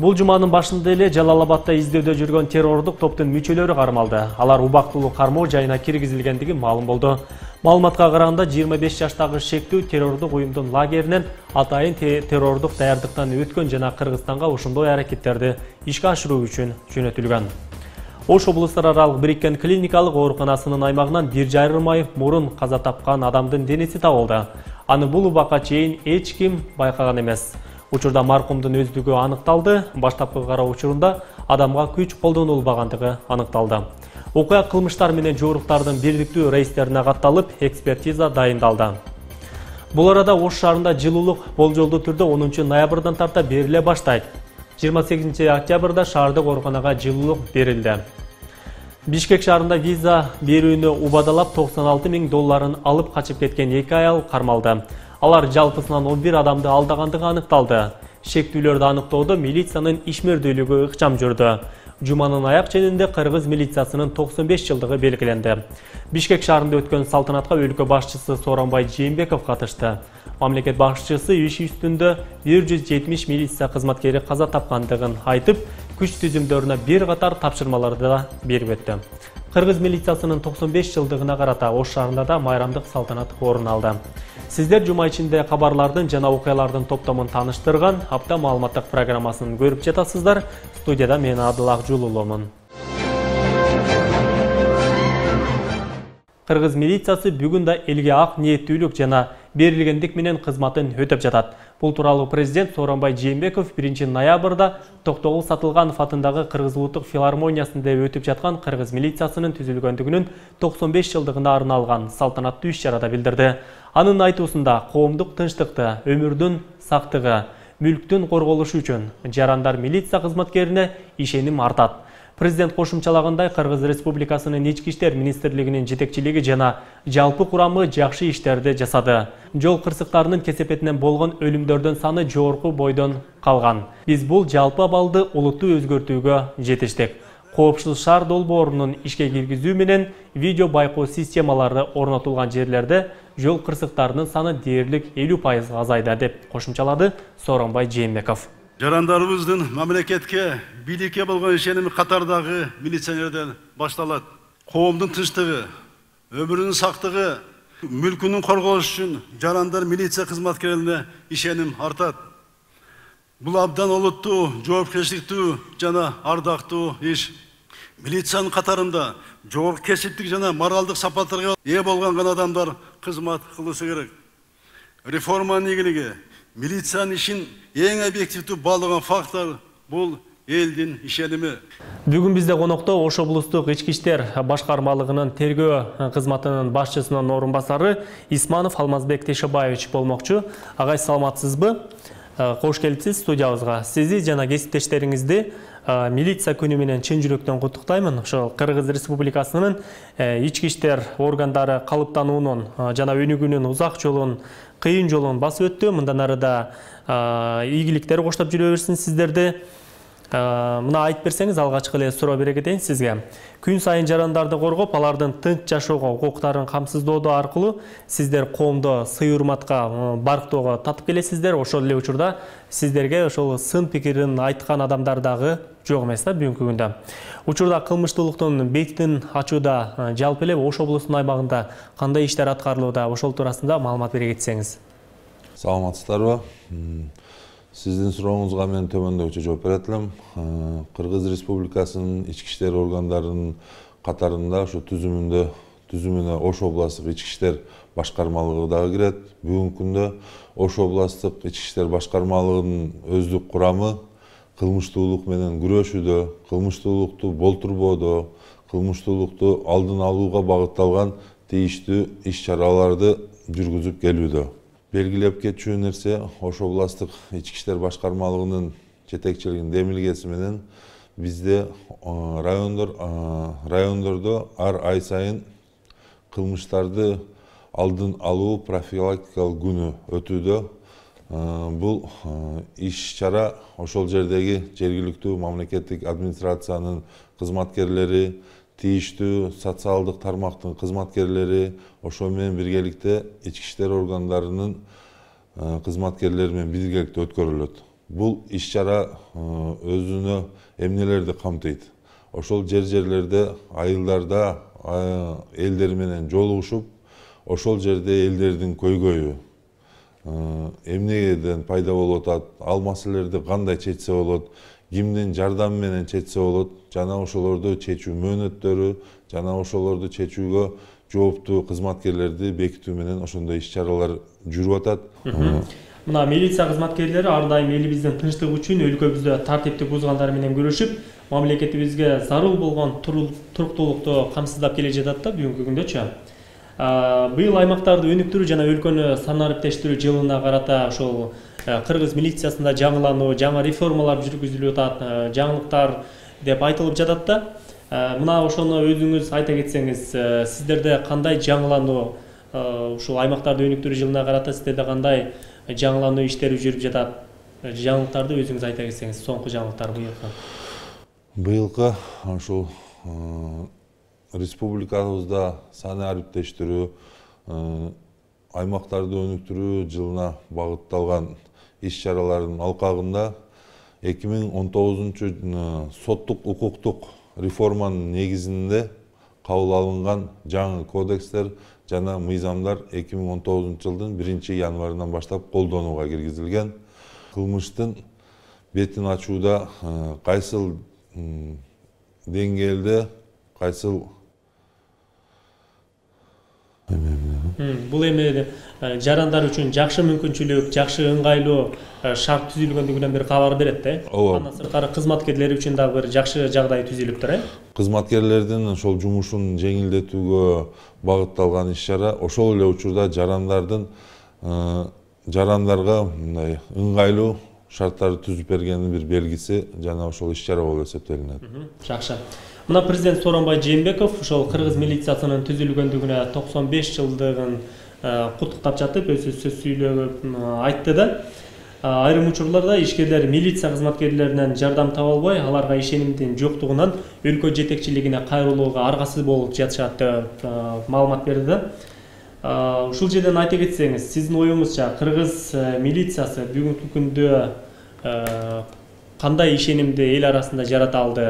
Бул жуманын башында эле Жалал-Абадда издөөдө жүргөн террордук топтун мүчөлөрү кармалды. Алар убактылуу кармоо жайына киргизилгендиги маалым болду. Маалыматка караганда 25 жаштагы шектүү террордук уюмдун лагеринен атайын террордук даярдыктан өткөн жана Кыргызстанга ошондой аракеттерди ишке ашыруу үчүн жөнөтүлгөн. Ош облустар аралык бириккен клиникалык ооруканасынын аймагынан 1,5 ай мурун каза тапкан адамдын денеси табылды. Аны бул убакка чейин эч ким байкаган эмес. Учурда маркумдун өздүгү аныкталды. Баштапкы кароо учурунда адамга күч колдонулбагандыгы аныкталды. Окуя кылмыштар менен жууруктардын бирликтүү рейстерине катталып, экспертиза дайындалды. Бул арада Ош шаарында жылуулук болжолдуу түрдө 10 ноябрдан тарта бериле баштайт. 28 октябрда шаардык ооруканага жылуулук берилди. Бишкек шаарында виза берүүнү убадалап $96 000 алып качып кеткен 2 аял кармалды. Алар жалпысынан 11 адамды алдагандыгы аныкталды. Шектүүлөрдү аныктоодо милициянын ишмердүүлүгү ыкчам жүрдү. Жуманын аяк ченинде Кыргыз милициясынын 95 жылдыгы белгиленди. Бишкек шаарында өткөн салтанатка өлкө башчысы Сооронбай Жээнбеков катышты. Мамлекет башчысы иш үстүндө 170 милиция кызматкери каза тапкандыгын айтып, күч түзүмдөрүнө бир катар тапшырмаларды да берип өттү. Кыргыз милициясынын 95 жылдыгына карата Ош шаарында да майрамдык салтанат орун алды. Сиздер жума ичинде кабарлардын жана окуялардын топтомун тааныштырган апта маалыматтык программасын көрүп жатасыздар. Студияда мен Адыл Акжулулумун. Кыргыз милициясы бүгүн да элге ак ниеттүүлүк жана берилгендик менен кызматын өтөп жатат. Бул тууралуу президент Сооронбай Жээнбеков 1 ноябрда Токтогул Сатылганов атындагы Кыргыз улуттук филармониясында өтүп жаткан Кыргыз милициясынын түзүлгөндүгүнүн 95 жылдыгына арналган салтанаттуу иш-чарада билдирди. Анын айтуусунда коомдук тынчтыкты, өмүрдүн сактыгы, мүлктүн корголушу үчүн жарандар милиция кызматкерине ишеним артат. Президент кошумчалагандай Кыргыз Республикасынын Ички иштер министрлигинин жетекчилиги жана жалпы курамы жакшы иштерди жасады. Жол кырсыктарынын кесепетинен болгон өлүмдөрдүн саны жогорку бойдон калган. Биз бул жалпы абалды олуттуу өзгөртүүгө жетиштик. Коопсуз шаар долбоорунун ишке киргизүү менен видео байкоо системалары орнотулган жерлерде жол кырсыктарынын саны дээрлик 50% азайды деп кошумчалады Сооронбай Жээнбеков. Жарандарыбыздын мамлекетке, бийликке болгон ишеними катардагы милиционерден башталат. Коомдун тынчтыгы, өмүрүнүн сактыгы, мүлкүнүн корголушу үчүн жарандар милиция кызматкерлерине ишеним артат. Бул абдан олуттуу, жоопкерчиликтүү жана ардактуу иш. Милициянын катарында жогорку кесиптик жана моралдык сапаттарга ээ болгон адамдар кызмат кылышы керек. Реформанын ийгилиги милициянын ишин эң объективдүү баалаган фактор бул элдин ишеними. Бүгүн бизде конокто Ош облустук ички иштер башкармалыгынын тергөө кызматынын башчысынын орун басары Исманов Алмазбек Тешебаевич болмокчу. Агай, саламатсызбы? Кош келипсиз студиябызга. Сизди жана кесиптештериңизди милиция күнү менен чын жүрөктөн куттуктаймын. Ошол Кыргыз Республикасынын ички иштер органдары калыптануунун жана өнүгүүнүн узак жолун, кыйын жолун басып өттү. Мындан арыда ийгиликтер коштоп жүрө берсин сиздерди. Мына айтып берсеңиз, алгачкы эле суроо бере кетейин сизге. Күн сайын жарандарды коргоп, алардын тынч жашоого укуктарын камсыздоодо аркылуу сиздер коомдо сый-урматка, барктоого татып келесиздер. Ошол эле учурда сиздерге ошол сын пикирин айткан адамдар дагы жок эмес да бүгүнкү күндө. Учурда кылмыштуулуктун бетин ачууда жалпы эле Ош облусунун аймагында кандай иштер аткарылууда, ошол туурасында маалымат бере кетсеңиз. Саламатсыздарбы? Сиздин сурооңузга мен төмөндөгүчө жооп берет элем. Кыргыз Республикасынын ички иштер органдарынын катарында ошо түзүмүнө Ош областтык ички иштер башкармалыгы дагы кирет. Бүгүнкү күндө Ош областтык ички иштер башкармалыгынын өздүк курамы кылмыштуулук менен күрөшүүдө, кылмыштуулукту болтурбоодо, кылмыштуулукту алдын алууга багытталган тийиштүү иш-чараларды жүргүзүп келүүдө. Белгилеп кетчү нерсе, Ош областтык ички иштер башкармалыгынын жетекчилигинин демилгеси менен бизде райондордо ар ай сайын кылмыштарды алдын алуу профилактикалык күнү өтүүдө. Бул иш-чара ошол жердеги жергиликтүү мамлекеттик администрациянын кызматкерлери, тийиштүү социалдык тармактын кызматкерлери, ошо менен биргеликте ички иштер органдарынын кызматкерлери менен биргеликте өткөрүлөт. бул иш-чара өзүнө эмнелерди камтыйт. Ошол жерлерде айылдарда элдер менен жолугушуп, ошол жерде элдердин көйгөйү эмнеден пайда болуп атат, ал маселелерди кандай чечсе болот, кимдин жардамы менен чечсе болот, жана ошолорду чечүү мөөнөттөрү, жана ошолорду чечүүгө жооптуу кызматкерлерди бекитүү менен ошондой иш-чаралар жүрүп атат. Мына милиция кызматкерлери ар дайым элибиздин тынчтыгы үчүн өлкөбүздө тартипти бузгандар менен күрөшүп, мамлекетибизге зарыл болгон туруктуулукту камсыздап келе жатат да бүгүнкү күндөчү. Быйыл аймактарды өнүктүрүү жана өлкөнү санариптештирүү жылына карата ошол кыргыз милициясында жаңылануу, жаңа реформалар жүргүзүлүп атат, жаңылыктар деп айтылып жатат да. Мына ошону өзүңүз айта кетсеңиз, сиздерде кандай жаңылануу, ушул аймактарды өнүктүрүү жылына карата сиздерде кандай жаңылануу иштери жүрүп жатат? Жаңылыктарды өзүңүз айта кетсеңиз, соңку жаңылыктар быйылкы. Быйылкы ушул республикабызда санариптештирүү, аймактарды өнүктүрүү жылына багытталган иш-чаралардын алкагында 2019 соттук укуктук реформанын негизинде кабыл алынган жаңы кодекстер жана мыйзамдар 2019 жылдын 1-январынан баштап колдонууга киргизилген. Кылмыштын бетин ачууда кайсыл деңгээлде, кайсыл бул эми жарандар үчүн жакшы мүмкүнчүлүк, жакшы ыңгайлуу шарт түзүлгөндүгүнөн бир кабар берет да. Андан сырткары кызматкерлер үчүн дагы бир жакшы жагдай түзүлүптүр, Кызматкерлердин ошол жумушун жеңилдетүүгө багытталган иш-чара, ошол эле учурда жарандарга мындай ыңгайлуу шарттарды түзүп бергенин бир белгиси жана ошол иш-чара болуп эсептелинет. Жакшы. Мына президент Сооронбай Жээнбеков ошол кыргыз милициясынын түзүлгөндүгүнө 95 жылдыгын куттуктап жатып, өзү сөз сүйлөп айтты да. Айрым учурларда ишкерлер милиция кызматкерлеринен жардам таба албай, аларга ишенимдин жоктугунан өлкө жетекчилигине кайрылууга аргасыз болуп жатышат деп маалымат берди да. Ушул жерден айта кетсеңиз, сиздин оюңузча кыргыз милициясы бүгүнкү күндө кандай ишенимди эл арасында жарата алды?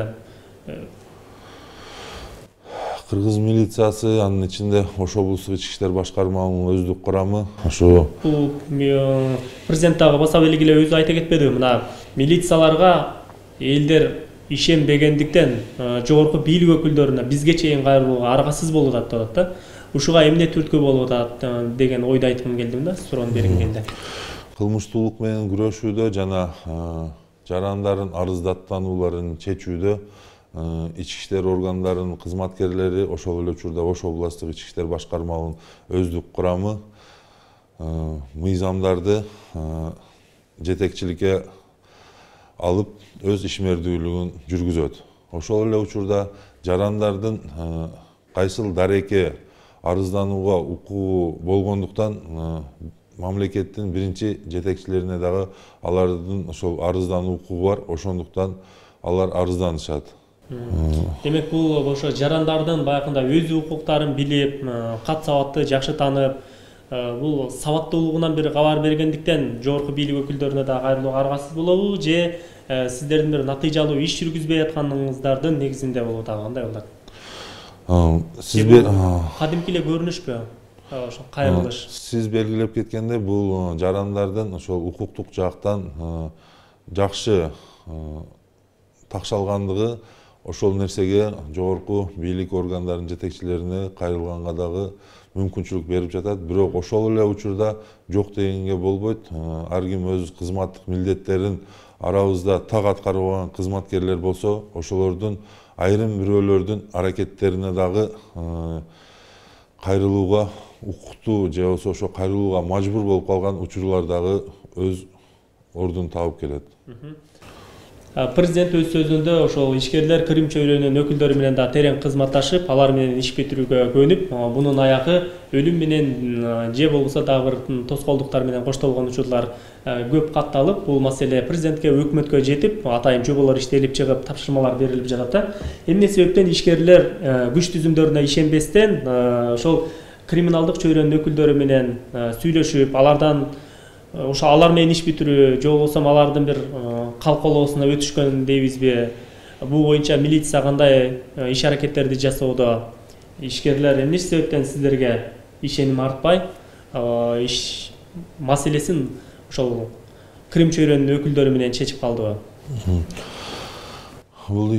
Кыргыз милициясы, анын ичинде Ош облустук ички иштер башкармалыгынын өздүк курамы, ошо президент дагы баса белгилеп өзү айта кетпедиби? Мына милицияларга элдер ишенбегендиктен жогорку бийлик өкүлдөрүнө бизге чейин кайрылууга аргасыз болуп атат деп атат да. Ушуга эмне түрткү болуп атат деген ойду айткым келдим да, суроону бергим келди. Кылмыштуулук менен күрөшүүдө жана жарандардын арыздаттанууларын чечүүдө ички иштер органдарынын кызматкерлери, ошол эле учурда Ош областык ички иштер башкармалыгынын өздүк курамы мыйзамдарды жетекчиликке алып өз ишмердүүлүгүн жүргүзөт. Ошол эле учурда жарандардын кайсыл дареке арызданууга укугу болгондуктан мамлекеттин биринчи жетекчилерине дагы алардын ошол арыздануу укугу бар, ошондуктан алар арызданышат. Демек бул ошо жарандардын баягында өз укуктарын билип, кат сабатты жакшы таанып, бул сабаттуулугунан бир кабар бергендиктен жогорку бийлик өкүлдөрүнө да кайрылууга аргасыз болобу, же сиздердин бир натыйжалуу иш жүргүзбөй атканыңыздардын негизинде болобу, дагы кандай болот? Сиз кадимки эле көрүнүшпү ошо кайрылыш? Сиз белгилеп кеткендей, бул жарандардын ошол укуктук жактан жакшы такшалгандыгы ошол нерсеге жогорку бийлик органдарынын жетекчилерине кайрылганга дагы мүмкүнчүлүк берип жатат. Бирок ошол эле учурда жок дегенге болбойт. Ар ким өз кызматтык милдеттерин арабызда так аткарып алган кызматкерлер болсо, ошолордун айрым бирөөлөрдүн аракеттерине дагы кайрылууга укуктуу же болбосо ошо кайрылууга мажбур болуп калган учурлар дагы өз ордун табып келет. Президент өз сөзүндө ошол ишкерлер Крым чөйрөнүнүн өкүлдөрү менен да терең кызматташып, алар менен иш бүтүрүүгө көнүп, бунун аягы өлүм менен же болбосо дагы бир тоскоолдуктар менен коштолгон учурлар көп катталып, бул маселе президентке, өкмөткө жетип, атайын жоболор иштелип чыгып, тапшырмалар берилип жатат да. Эмне себептен ишкерлер күч түзүмдөрүнө ишенбестен ошол криминалдык чөйрөнүн өкүлдөрү менен сүйлөшүп, алардан ошо алар менен иш бүтүрүү же болбосо алардын бир калкалоосуна өтүшкөн дейбизби? Бул боюнча милиция кандай иш аракеттерди жасоодо? Ишкерлер эмне себептен сиздерге ишеним артпай иш маселесин ошол Крым чөйрөнүнүн өкүлдөрү менен чечип калдыбы? Бул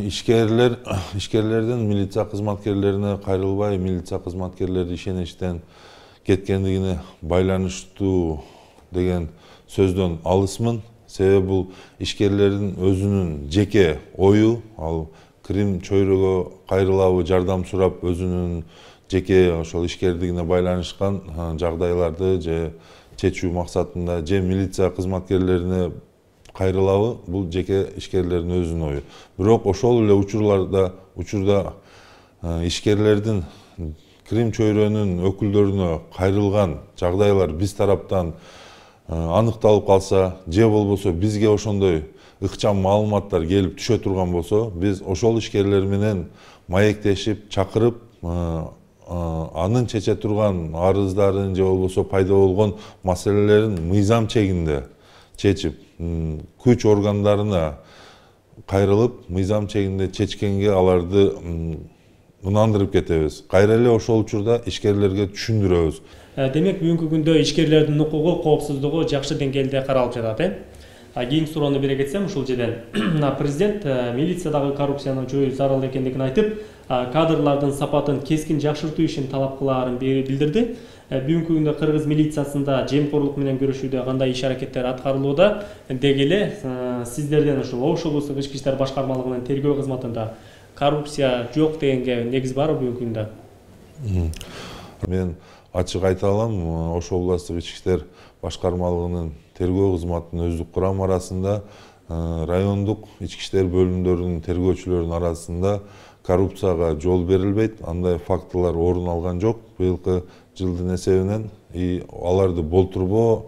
ишкерлердин милиция кызматкерлерине кайрылбай, милиция кызматкерлери ишеничтен кеткендигине байланыштуу деген сөздөн алысмын. Себеби бул ишкерлердин өзүнүн жеке ою, ал Крым чөйрөгө кайрылабы, жардам сурап өзүнүн жеке ошол ишкердигине байланышкан жагдайларды же чечүү максатында же милиция кызматкерлерине кайрылабы, бул жеке ишкерлердин өзүнүн ою. Бирок ошол эле учурда ишкерлердин Крым чөйрөнүн өкүлдөрүнө кайрылган жагдайлар биз тараптан аныкталып калса, же болбосо бизге ошондой ыкчам маалыматтар келип түшө турган болсо, биз ошол ишкерлер менен маектешип, чакырып, анын чече турган арыздарын же болбосо пайда болгон маселелерин мыйзам чегинде чечип, күч органдарына кайрылып, мыйзам чегинде чечкенге аларды ынандырып кетебиз. Кайра эле ошол учурда ишкерлерге түшүндүрөбүз. Демек, бүгүнкү күндө ишкерлердин укугу, коопсуздугу жакшы деңгээлде каралып жатат, кийинки суроону бере кетсем, ушул жерден президент милициядагы коррупцияны жоюу зарыл экендигин айтып, кадрлардын сапатын кескин жакшыртуу ишин талап кылаарын билдирди. Бүгүнкү күндө Кыргыз милициясында жемкорлук менен көрүшүүдө кандай иш аракеттер аткарылууда, деги эле сиздерден ушул Ош облустук ички иштер башкармалыгынын тергөө кызматында коррупция жок дегенге негиз барбы бүгүнкү күндө? Мен ачык айта алам, Ош облустук ички иштер башкармалыгынын тергөө кызматынын өздүк курамы арасында, райондук ички иштер бөлүмдөрүнүн тергөөчүлөрүнүн арасында коррупцияга жол берилбейт, андай фактылар орун алган жок. Быйылкы жылдын эсебинен аларды болтурбоо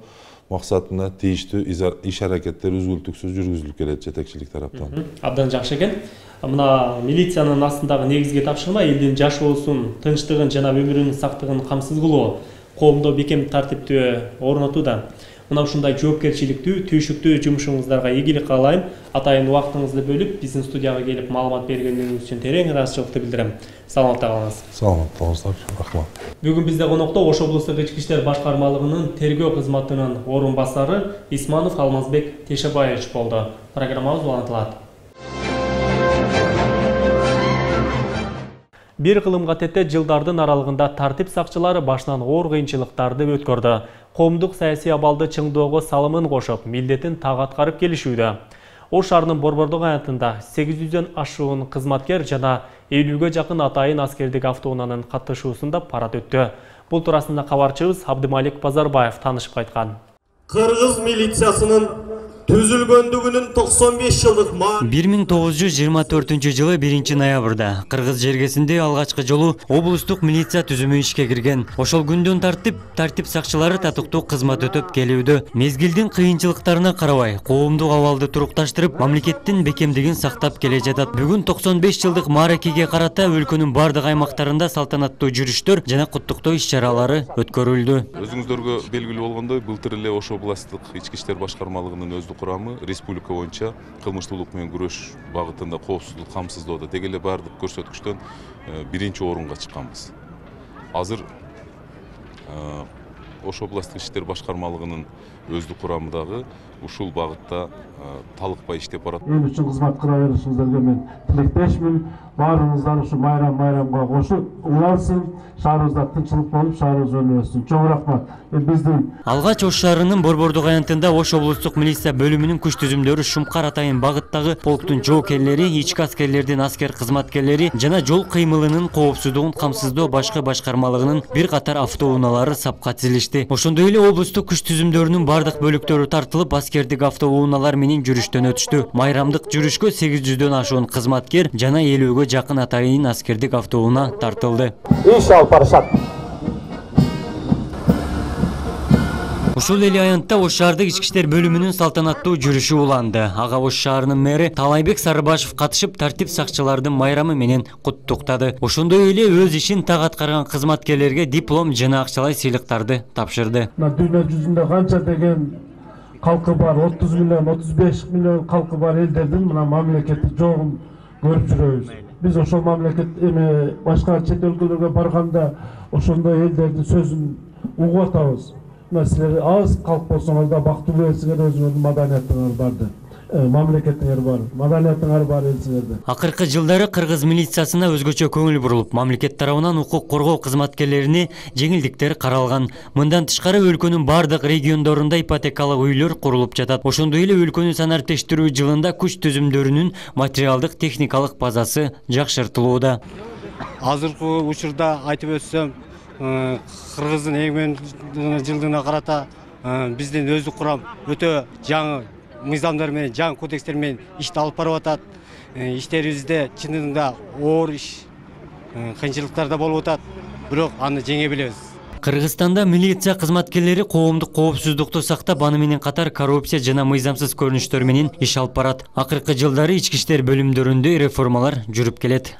максатында тийиштүү иш аракеттер үзгүлтүксүз жүргүзүлүп келет жетекчилик тараптан. Абдан жакшы экен. Мына милициянын астындагы негизги тапшырма элдин жашоосун, тынчтыгын жана өмүрүнүн сактыгын камсыз кылуу, коомдо бекем тартипти орнотууда. Мына ушундай жоопкерчиликтүү, түйшүктүү жумушуңуздарга ийгилик каалайм. Атайын убактыңызды бөлүп, биздин студияга келип маалымат бергениңиз үчүн терең ыраазычылыкты билдирем. Саламатта калыңыз. Саламатта болуңуздар, рахмат. Бүгүн бизде конокто Ош облустук ички иштер башкармалыгынын тергөө кызматынын орун басары Исманов Алмазбек Тешебаевич болду. Программабыз улантылат. Бир кылымга тете жылдардын аралыгында тартип сакчылары башынан оор кыйынчылыктарды өткөрдү. Коомдук саясий абалды чыңдоого салымын кошуп, милдетин так аткарып келишүүдө. Ош шаарынын Борбордук аянтында 800дөн ашуун кызматкер жана 50ге жакын атайын аскердик автоунаанын катышуусунда парад өттү. Бул туурасында кабарчыбыз Абдымалик Базарбаев таанышып кайткан. Кыргыз милициясынын түзүлгөндүгүнүн 95 жылдык 1924 жылы 1-ноябрда Кыргыз жергесинде алгачкы жолу облустук милиция түзүмү ишке кирген. Ошол күндөн тартип сакчылары татыктуу кызмат өтөп келүүдө. Мезгилдин кыйынчылыктарына карабай, коомдук абалды турукташтырып, мамлекеттин бекемдигин сактап келе жатат. Бүгүн 95 жылдык мааракеге карата өлкөнүн бардык аймактарында салтанаттуу жүрүштөр жана куттуктоо иш-чаралары өткөрүлдү. Өзүңүздөргө белгилүү болгондой, былтыр эле Ош облустук ички иштер башкармалыгынын курамы республика боюнча кылмыштуулук менен күрөш багытында коопсуздук камсыздоодо деги эле бардык көрсөткүчтөн 1-орунга чыкканбыз. Азыр Ош облустук ички иштер башкармалыгынын өздүк курамындагы ушул багытта талыкпай иштеп барат. Эл үчүн кызмат кыла беришиңиздерге мен тилектешмин. Баарыңыздар ушу майрамга кошуп улансын, шаарыбызда тынччылык болуп, шаарыбыз өнүгөсүн. Чоң рахмат. Биздин Алгач Ош шаарынын Борбордук аянтында Ош облустук милиция бөлүмүнүн күч түзүмдөрү Шумкар атайын багыттагы полктун жоокерлери, ички аскерлердин аскер кызматкерлери жана жол кыймылынын коопсуздугун камсыздоо башкы башкармалыгынын бир катар автоунаалары сапка тизилишти. Ошондой эле облустук күч түзүмдөрүнүн бардык бөлүктөрү тартылып, аскердик автоунаалар менен жүрүштөн өтүштү. Майрамдык жүрүшкө 800дөн ашуун кызматкер жана 50ге жакын атайын аскердик автоунаа тартылды. Иш алып барышат. Ушул эле аянтта Ош шаардык ички иштер бөлүмүнүн салтанаттуу жүрүшү уланды. Ага Ош шаарынын мэри Талайбек Сарыбашев катышып тартип сакчылардын майрамы менен куттуктады. Ошондой эле өз ишин так аткарган кызматкерлерге диплом жана акчалай сыйлыктарды тапшырды. Дүйнө жүзүндө канча деген калкы бар, 30 миллион, 35 миллион калкы бар элдердин мына мамлекеттик жогун көрүп жүрөбүз. Биз ошол мамлекет башка чет өлкөлөргө барганда ошондой элдердин сөзүн угуп атабыз. Силер аз калк болсоңуз да бактылуу элсиңер, өзүңөрдүн маданиятыңар барды. Мамлекетиңер бар, маданиятыңар бар элсиңерде. Акыркы жылдары кыргыз милициясына өзгөчө көңүл бурулуп, мамлекет тарабынан укук коргоо кызматкерлерине жеңилдиктер каралган. Мындан тышкары өлкөнүн бардык региондорунда ипотекалык үйлөр курулуп жатат. Ошондой эле өлкөнү санариптештирүү жылында күч түзүмдөрүнүн материалдык техникалык базасы жакшыртылууда. Азыркы учурда айтып өтсөм, кыргыздын эгмен жылдыгына карата биздин өздүк курам өтө жаңы мыйзамдар менен, жаңы кодекстер менен ишти алып барып атат. Иштерибизде чынында оор иш, кыйынчылыктар да болуп атат, бирок аны жеңе билебиз. Кыргызстанда милиция кызматкерлери коомдук коопсуздукту сактап, аны менен катар коррупция жана мыйзамсыз көрүнүштөр менен иш алып барат. Акыркы жылдары ички иштер бөлүмдөрүндө реформалар жүрүп келет.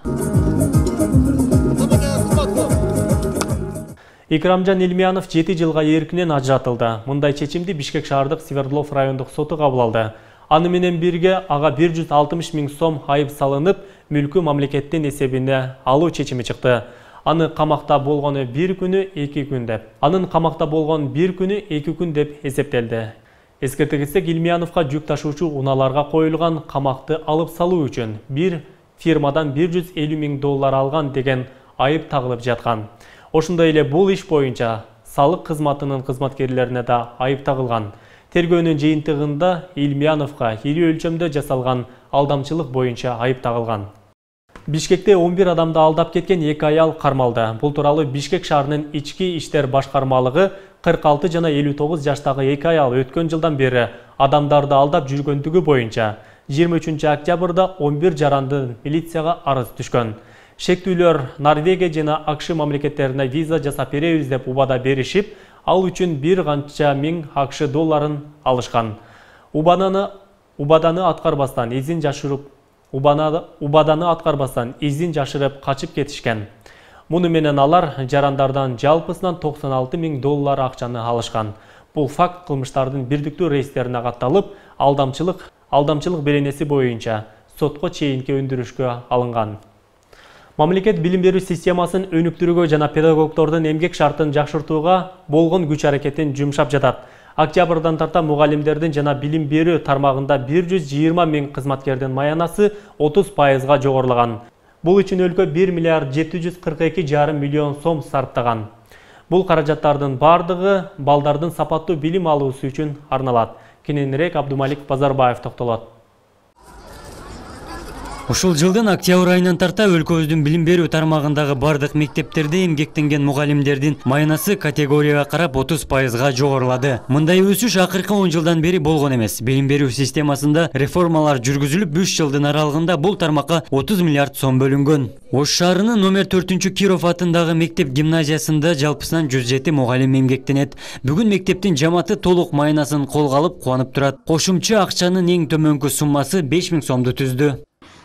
Икрамжан Илмиянов 7 жылга эркинен ажыратылды. Мындай чечимди Бишкек шаардык Свердлов райондук соту кабыл алды. Аны менен бирге ага 160 миң сом айып салынып, мүлкү мамлекеттин эсебине алуу чечими чыкты. Аны камакта болгону 1 күнү 2 күн деп. Анын камакта болгон 1 күнү 2 күн деп эсептелди. Эскерте кетсек, Илмияновго жүк ташуучу унааларга коюлган камакты алып салуу үчүн бир фирмадан 150 миң доллар алган деген айып тагылып жаткан. Ошондой эле бул иш боюнча салык кызматынын кызматкерлерине да айып тагылган. Тергөөнүн жыйынтыгында Илмияновго ири өлчөмдө жасалган алдамчылык боюнча айып тагылган. Бишкекте 11 адамды алдап кеткен 2 аял кармалды. Бул тууралуу Бишкек шаарынын ички иштер башкармалыгы 46 жана 59 жаштагы 2 аял өткөн жылдан бери адамдарды алдап жүргөндүгү боюнча 23 октябрда 11 жаранды милицияга арыз түшкөн. Шектүүлөр Норвегия жана АКШ мамлекеттерине виза жасап беребиз деп убада беришип, ал үчүн бир канча миң АКШ долларын алышкан. Убаданы аткарбастан изин жашырып качып кетишкен. Муну менен алар жарандардан жалпысынан 96 миң доллар акчаны алышкан. Бул факт кылмыштардын бирдиктүү рейстерине катталып, алдамчылык беренеси боюнча сотко чейинки өндүрүшкө алынган. Мамлекет билим берүү системасын өнүктүрүүгө жана педагогдордун эмгек шартын жакшыртууга болгон күч аракетин жумшап жатат. Октябрдан тарта мугалимдердин жана билим берүү тармагында 120 миң кызматкердин маянасы 30%га жогорулаган. Бул үчүн өлкө 1 миллиард 742,5 миллион сом сарптаган. Бул каражаттардын бардыгы балдардын сапаттуу билим алуусу үчүн арналат. Кененирээк Абдумалик Базарбаев токтолот. Ушул жылдын октябрь айынан тарта өлкөбүздүн билим берүү тармагындагы бардык мектептерде эмгектенген мугалимдердин маянасы категорияга карап 30%га жогорулады. Мындай өсүш акыркы 10 жылдан бери болгон эмес. Билим берүү системасында реформалар жүргүзүлүп, 3 жылдын аралыгында бул тармакка 30 миллиард сом бөлүнгөн. Ош шаарынын номер 4-Киров атындагы мектеп гимназиясында жалпысынан 107 мугалим эмгектенет. Бүгүн мектептин жамааты толук маянасын колго алып кубанып турат. Кошумча акчанын эң төмөнкү суммасы 5 миң сомду түздү.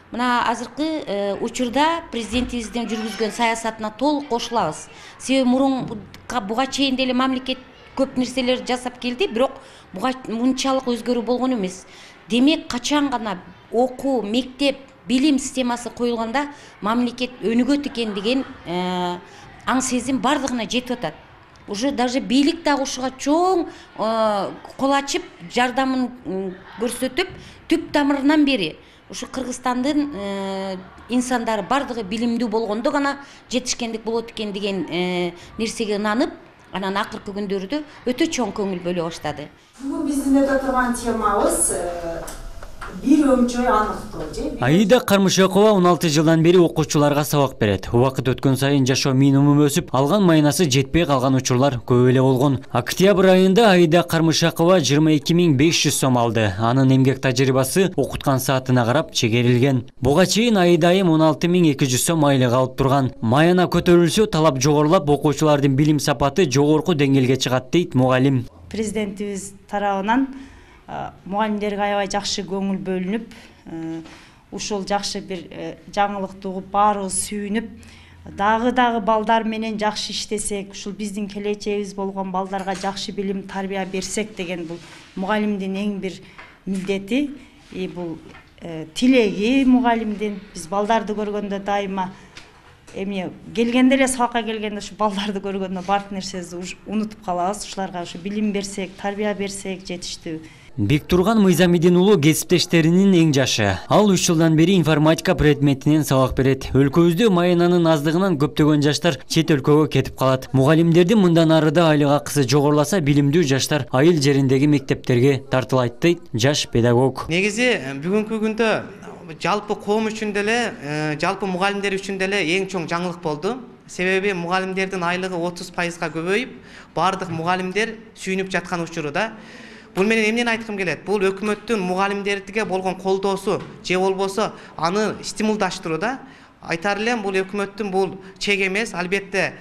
Мына азыркы учурда президентибиздин жүргүзгөн саясатына толук кошулабыз. Себеби мурунка буга чейин деле мамлекет көп нерселер жасап келди, бирок буга мынчалык өзгөрүү болгон эмес. Демек качан гана окуу, мектеп, билим системасы коюлганда мамлекет өнүгөт экен деген аң сезим бардыгына жетип атат. Уже даже бийлик дагы ушуга чоң кол ачып, жардамын көрсөтүп, түп тамырынан бери ушу Кыргызстандын инсандары бардыгы билимдүү болгондо гана жетишкендик болот экен деген нерсеге ынанып, анан акыркы күндөрдө өтө чоң көңүл бөлө баштады. Бүгүн биздин өтө турган темабыз бир өмчөй аныктоо же. Аида Кармышакова 16 жылдан бери окуучуларга сабак берет. Убакыт өткөн сайын жашоо минимуму өсүп, алган маянасы жетпей калган учурлар көп эле болгон. Октябрь айында Аида Кармышакова 22.500 сом алды. Анын эмгек тажрыйбасы окуткан саатына карап чегерилген. Буга чейин Аида айым 16.200 сом айлык алып турган. Маяна көтөрүлсө, талап жогорулап, окуучулардын билим сапаты жогорку деңгээлге чыгат дейт мугалим. президентибиз тарабынан мугалимдерге аябай жакшы көңүл бөлүнүп, ушул жакшы бир жаңылыкты угуп баарыбыз сүйүнүп, дагы балдар менен жакшы иштесек, ушул биздин келечегибиз болгон балдарга жакшы билим, тарбия берсек деген бул мугалимдин эң бир милдети, бул тилеги мугалимдин. Биз балдарды көргөндө дайыма келгенде эле, сабакка келгенде ушу балдарды көргөндө баардык нерсебизди унутуп калабыз. Ушуларга ушу билим берсек, тарбия берсек жетиштүү. Бектурган Мыйзамидин уулу кесиптештеринин эң жашы. Ал 3 жылдан бери информатика предметинен сабак берет. Өлкөбүздө маянанын аздыгынан көптөгөн жаштар чет өлкөгө кетип калат. Мугалимдердин мындан арыда айлык акысы жогоруласа, билимдүү жаштар айыл жериндеги мектептерге тартылайт дейт жаш педагог. Негизи бүгүнкү күндө жалпы коом үчүн деле, жалпы мугалимдер үчүн деле эң чоң жаңылык болду. Себеби мугалимдердин айлыгы 30%га көбөйүп, бардык мугалимдер сүйүнүп жаткан учурда. Бул менен эмнени айткым келет? Бул өкмөттүн мугалимдерге болгон колдоосу же болбосо аны стимулдаштырууда. Айтар элем, бул өкмөттүн бул чек эмес, албетте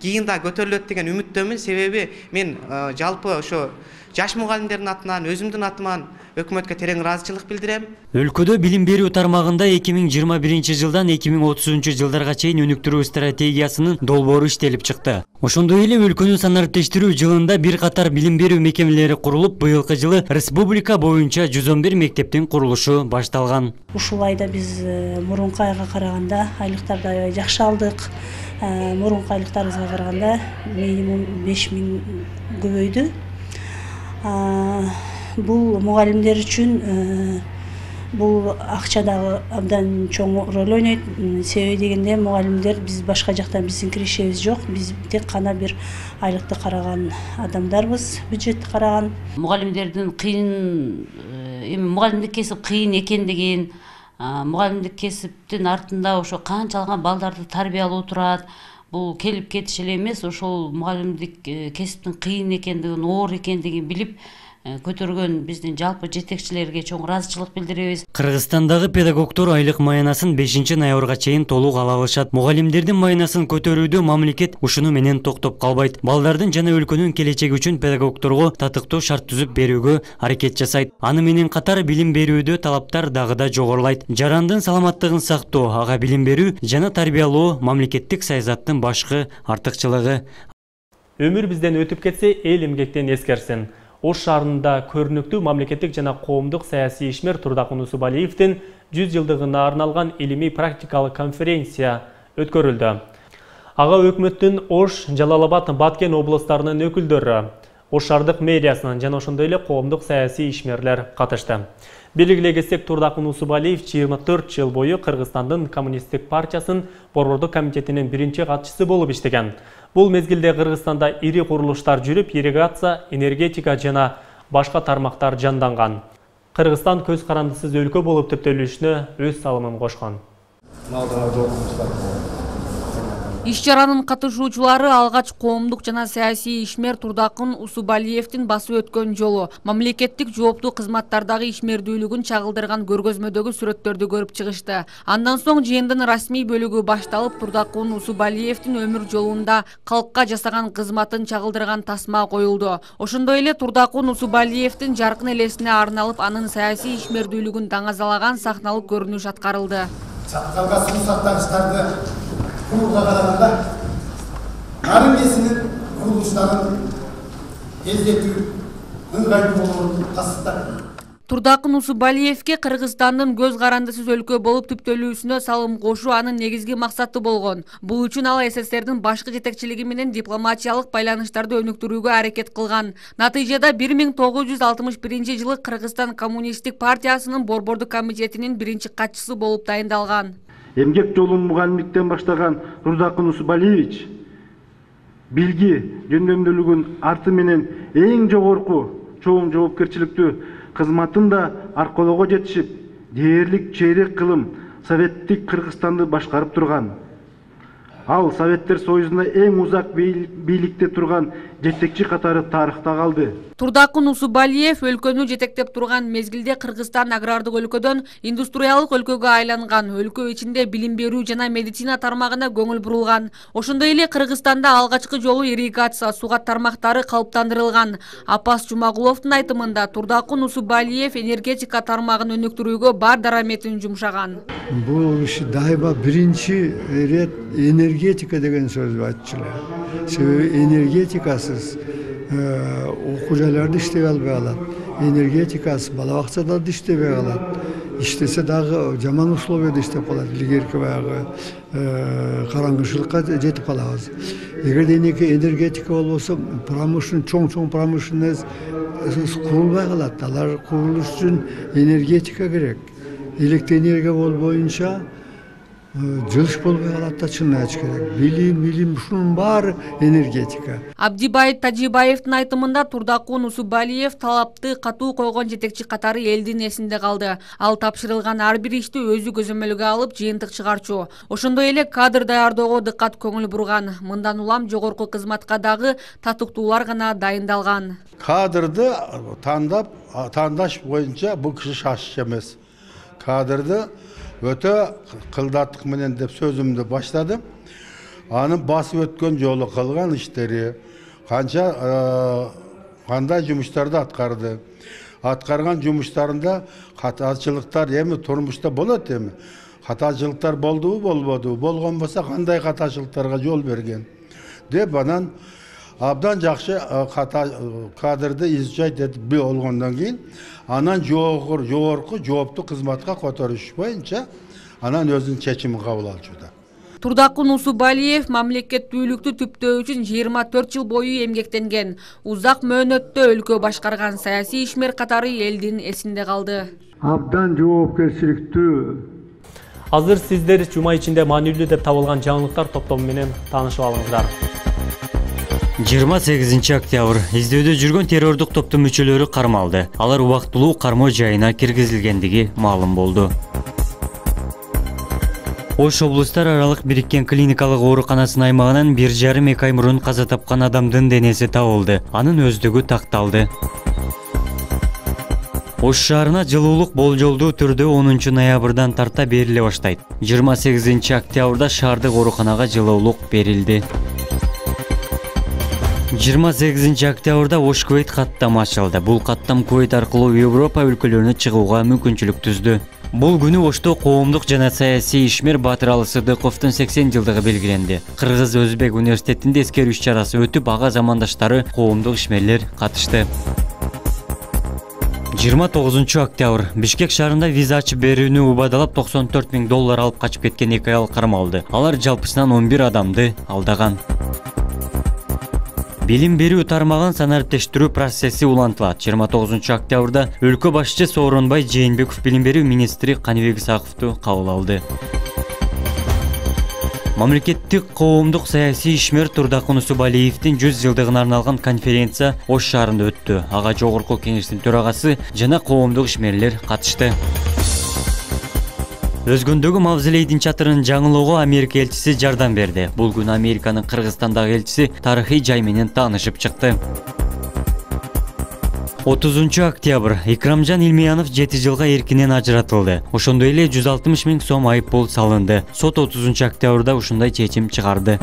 кийин да көтөрүлөт деген үмүттөмүн. Себеби мен жалпы ошо жаш мугалимдердин атынан, өзүмдүн атыман өкмөткө терең ыраазычылык билдирем. Өлкөдө билим берүү тармагында 2021 жылдан 2030 жылдарга чейин өнүктүрүү стратегиясынын долбоору иштелип чыкты. Ошондой эле өлкөнү санариптештирүү жылында бир катар билим берүү мекемелери курулуп, быйылкы жылы республика боюнча 111 мектептин курулушу башталган. Ушул айда биз мурунку айга караганда айлыктарды аябай жакшы алдык. Мурунку айлыктарыбызга караганда минимум 5000 көбөйдү. Бул мугалимдер үчүн бул акча дагы абдан чоң роль ойнойт. Себеби дегенде мугалимдер биз башка жактан биздин киришебиз жок. Биз тек кана бир айлыкты караган адамдарбыз, бюджетти караган. Мугалимдердин кыйын, мугалимдик кесип кыйын экендигин, мугалимдик кесиптин артында ошо канчалган балдарды тарбиялоо турат. Бул келип кетиш эле эмес, ошол мугалимдик кесиптин кыйын экендигин, оор экендигин билип көтөргөн биздин жалпы жетекчилерге чоң ыраазычылык билдиребиз. Кыргызстандагы педагогдор айлык майнасын 5 ноябрга чейин толук ала алышат. Мугалимдердин майнасын көтөрүүдө мамлекет ушуну менен токтоп калбайт. Балдардын жана өлкөнүн келечеги үчүн педагогдорго татыктуу шарт түзүп берүүгө аракет жасайт. Аны менен катар билим берүүдө талаптар дагы да жогорулайт. Жарандын саламаттыгын сактоо, ага билим берүү жана тарбиялоо мамлекеттик саясаттын башкы артыкчылыгы. Өмүр бизден өтүп кетсе, эл эмгектен эскерсин. Ош шаарында көрүнүктүү мамлекеттик жана коомдук саясий ишмер Турдакун Усубалиевдин 100 жылдыгына арналган илимий практикалык конференция өткөрүлдү. Ага өкмөттүн Ош, Жалал-Абад, Баткен облустарынын өкүлдөрү, Ош шаардык мэриясынын жана ошондой эле коомдук саясий ишмерлер катышты. Белгилей кетсек, Турдакун Усубалиев 24 жыл бою Кыргызстандын Коммунисттик партиясынын борбордук комитетинин биринчи катчысы болуп иштеген. Бул мезгилде Кыргызстанда ири курулуштар жүрүп, ирригация, энергетика жана башка тармактар жанданган. Кыргызстан көз карандысыз өлкө болуп төптөлүшүнө өз салымын кошкон. Иш чаранын катышуучулары алгач коомдук жана саясий ишмер Турдакун Усубалиевдин басып өткөн жолу, мамлекеттик жооптуу кызматтардагы ишмердүүлүгүн чагылдырган көргөзмөдөгү сүрөттөрдү көрүп чыгышты. Андан соң жыйындын расмий бөлүгү башталып, Турдакун Усубалиевдин өмүр жолунда калкка жасаган кызматын чагылдырган тасма коюлду. Ошондой эле Турдакун Усубалиевдин жаркын элесине арналып, анын саясий ишмердүүлүгүн даңазалаган сахналык көрүнүш аткарылды. Чаткалга суу сактагычтарды курууга караганда нарын кесинин курулуштарын тездетүү ыңгайлуу болоорун тастыктап. Турдакун Усубалиевге Кыргызстандын көз карандысыз өлкө болуп түптөлүүсүнө салым кошуу анын негизги максаты болгон. Бул үчүн ал СССРдин башкы жетекчилиги менен дипломатиялык байланыштарды өнүктүрүүгө аракет кылган. Натыйжада 1961 жылы Кыргызстан Коммунисттик партиясынын борбордук комитетинин биринчи катчысы болуп дайындалган. Эмгек жолун мугалимдиктен баштаган Турдакун Усубалиевич билги жөндөмдүүлүгүн арты менен эң жогорку чоң жоопкерчиликтүү кызматын да аркоолоого жетишип, дээрлик чейрек кылым советтик Кыргызстанды башкарып турган. Ал Советтер Союзунда эң узак бийликте турган жетекчи катары тарыхта калды. Турдакун Усубалиев өлкөнү жетектеп турган мезгилде Кыргызстан агрардык өлкөдөн индустриалдык өлкөгө айланган, өлкө ичинде билим берүү жана медицина тармагына көңүл бурулган. Ошондой эле Кыргызстанда алгачкы жолу ирригация, сугат тармактары калыптандырылган. Апас Жумагуловдун айтымында Турдакун Усубалиев энергетика тармагын өнүктүрүүгө бар дараметин жумшаган. Бул иш дайыма биринчи ирет энергетика деген сөздү айтчылар. Себеби энергетикасыз окуу жайларда иштей албай калат. Энергетикасы бала бакчаларда иштебей калат. Иштесе дагы жаман условияда иштеп калат. Илгерки баягы караңгычылыкка жетип калабыз. Эгерде энергетика болбосо, чоң промышленность курулбай калат. Алар курулуш үчүн энергетика керек. Электроэнергия болбоюнча жылыш болбой калат да, чынын айтыш керек. Билим ушунун баары энергетика. Абдибайыт Тажибаевдин айтымында Турдакун Усубалиев талапты катуу койгон жетекчи катары элдин эсинде калды. Ал тапшырылган ар бир ишти өзү көзөмөлгө алып, жыйынтык чыгарчу. Ошондой эле кадр даярдоого дыккат көңүл бурган. Мындан улам жогорку кызматка дагы татыктуулар гана дайындалган. Кадрды тандаш боюнча бул киши шашыч эмес. Кадрды өтө кылдаттык менен деп сөзүмдү баштадым. Анын басып өткөн жолу, кылган иштери, кандай жумуштарды аткарды. Аткарган жумуштарында катачылыктар эми турмушта болот эми. Катачылыктар болдубу, болбодубу, болгон болсо кандай катачылыктарга жол берген деп анан абдан жакшы кадрды изучать этип болгондон кийин анан жогорку жооптуу кызматка которуш боюнча анан өзүнүн чечимин кабыл алчуда. Турдакун Усубалиев мамлекеттүүлүктү түптөө үчүн 24 жыл бою эмгектенген. Узак мөөнөттө өлкө башкарган саясий ишмер катары элдин эсинде калды. Абдан жоопкерчиликтүү. Азыр сиздер жума ичинде маанилүү деп табылган жаңылыктар топтому менен таанышып алыңыздар. 28 октябрь издөөдө жүргөн террордук топтун мүчөлөрү кармалды. Алар убактылуу кармоо жайына киргизилгендиги маалым болду. Ош облустар аралык бириккен клиникалык ооруканасынын аймагынан 1,5-2 ай мурун каза тапкан адамдын денеси табылды. Анын өздүгү такталды. Ош шаарына жылуулук болжолдуу түрдө 10 ноябрдан тарта бериле баштайт. 28 октябрда шаардык ооруканага жылуулук берилди. 28 октябрда Ош Кувейт каттамы ачылды. Бул каттам Кувейт аркылуу Европа өлкөлөрүнө чыгууга мүмкүнчүлүк түздү. Бул күнү Ошто коомдук жана саясий ишмер Батыралы Сыдыковдун 80 жылдыгы белгиленди. Кыргыз-Өзбек университетинде эскерүү иш-чарасы өтүп, ага замандаштары коомдук ишмерлер катышты. 29 октябрь Бишкек шаарында виза ачып берүүнү убадалап $94,000 алып качып кеткен 2 айыл кармалды. Алар жалпысынан 11 адамды алдаган. Билим берүү тармагын санариптештирүү процесси улантылат. 29 октябрда өлкө башчысы Сооронбай Жээнбеков билим берүү министри Каныбек Исаковду кабыл алды. Мамлекеттик коомдук саясий ишмер Турдакун Усубалиевдин 100 жылдыгына арналган конференция Ош шаарында өттү. Ага жогорку кеңештин төрагасы жана коомдук ишмерлер катышты. Өзгөндөгү мавзолейдин чатырын жаңылоого Америка элчиси жардам берди. Бул күнү Американын Кыргызстандагы элчиси тарыхый жай менен таанышып чыкты. 30 октябрь Икрамжан Илмиянов 7 жылга эркинен ажыратылды. Ошондой эле 160 000 сом айыппул салынды. Сот 30 октябрда ушундай чечим чыгарды.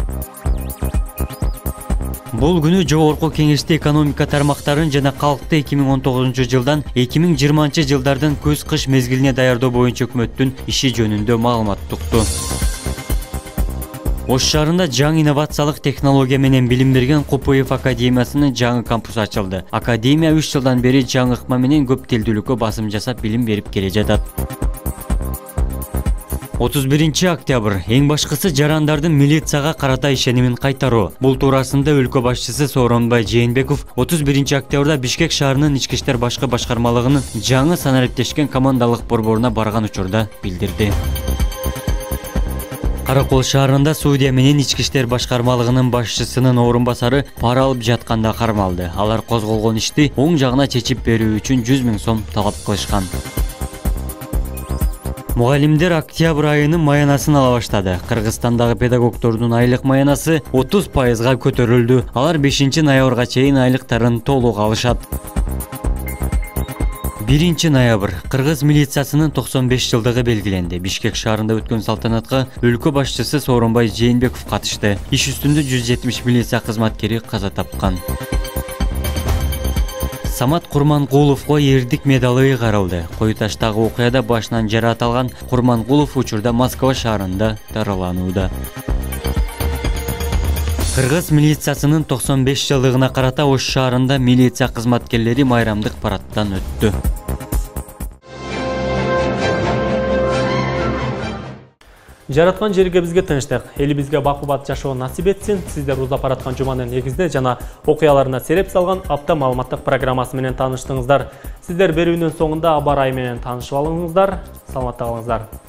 Бул күнү жогорку кеңеште экономика тармактарын жана калкты 2019 жылдан 2020 жылдардын көз-кыш мезгилине даярдоо боюнча өкмөттүн иши жөнүндө маалымат укту. Ош шаарында жаңы инновациялык технология менен билим берген КПФ академиясынын жаңы кампусу ачылды. Академия 3 жылдан бери жаңы ыкма менен көп тилдүүлүккө басым жасап билим берип келе жатат. 31 октябрь эң башкысы жарандардын милицияга карата ишенимин кайтаруу. Бул туурасында өлкө башчысы Сооронбай Жээнбеков 31 октябрда Бишкек шаарынын ички иштер башкы башкармалыгынын жаңы санариптешкен командалык борборуна барган учурда билдирди. Каракол шаарында судья менен ички иштер башкармалыгынын башчысынын орун басары пара алып жатканда кармалды. Алар козголгон ишти оң жагына чечип берүү үчүн 100 000 сом талап кылышкан. Мугалимдер октябрь айынын маянасын ала баштады. Кыргызстандагы педагогдордун айлык маянасы 30%га көтөрүлдү. Алар 5-ноябрга чейин айлыктарын толук алышат. 1-ноябрь кыргыз милициясынын 95 жылдыгы белгиленди. Бишкек шаарында өткөн салтанатка өлкө башчысы Сооронбай Жээнбеков катышты. Иш үстүндө 170 милиция кызматкери каза тапкан. Самат Курмангуловго эрдик медалы ыйгарылды. Кою таштагы окуяда башынан жараат алган Курмангулов учурда Москва шаарында дараланууда. Кыргыз милициясынын 95 жылдыгына карата Ош шаарында милиция кызматкерлери майрамдык парадтан өттү. Жараткан жерге бизге тынчтык, элибизге бакубат жашоо насип этсин. Сиздер узап бараткан жуманын негизинде жана окуяларына сереп салган апта маалыматтык программасы менен тааныштыңыздар. Сиздер берүүнүн соңунда аба ырайы менен таанышып алыңыздар. Саламатта калыңыздар.